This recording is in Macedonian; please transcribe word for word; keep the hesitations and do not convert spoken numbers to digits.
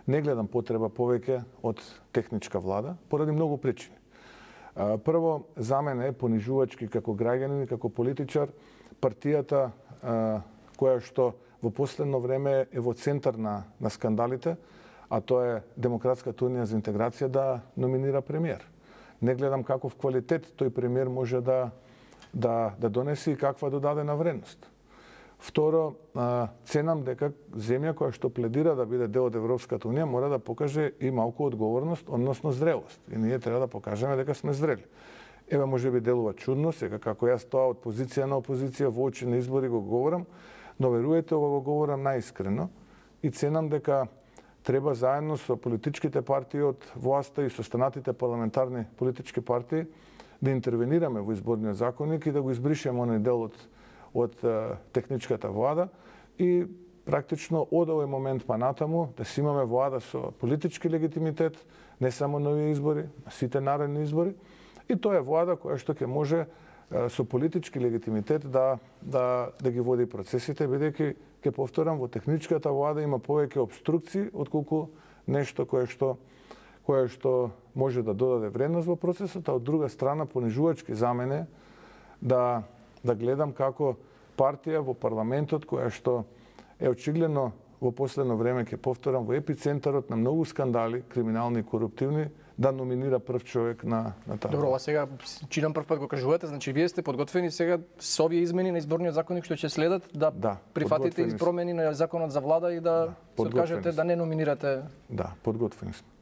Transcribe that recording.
Не гледам потреба повеќе од техничка влада, поради многу причини. Прво, за мене е понижувачки како граѓанин и како политичар, партијата која што во последно време е во центар на, на скандалите, а тоа е Демократската унија за интеграција, да номинира премиер. Не гледам каков квалитет тој премиер може да, да, да донесе и каква додадена вредност. Второ, ценам дека земја која што пледира да биде дел од Европската унија мора да покаже и малку одговорност, односно зрелост. И ние треба да покажеме дека сме зрели. Еве, може би делува чудно, сега како јас тоа од позиција на опозиција во очи на избори го говорам, но веруете, ова го говорам наискрено и ценам дека треба заедно со политичките партии од власта и со останатите парламентарни политички партии да интервенираме во изборниот законник и да го избришеме оној дел од од техничката влада и практично од овој момент па натаму да си имаме влада со политички легитимитет, не само на овие избори, на сите наредни избори. И тоа е влада која што ќе може со политички легитимитет да, да, да ги води процесите, бидејќи, ќе повторам, во техничката влада има повеќе обструкции отколку нешто кое што кое што може да додаде вредност во процесот, а од друга страна понижувачки за мене да да гледам како партија во парламентот која што е очигледно во последно време, ќе повторам, во епицентарот на многу скандали, криминални и коруптивни, да номинира прв човек на, на таа. Добро, а сега чинам прв пат го кажувате, значи вие сте подготвени сега со овие измени на изборниот законник што ќе следат да, да прифатите и промени на законот за влада и да, да се откажете да не номинирате? Да, подготвени сме.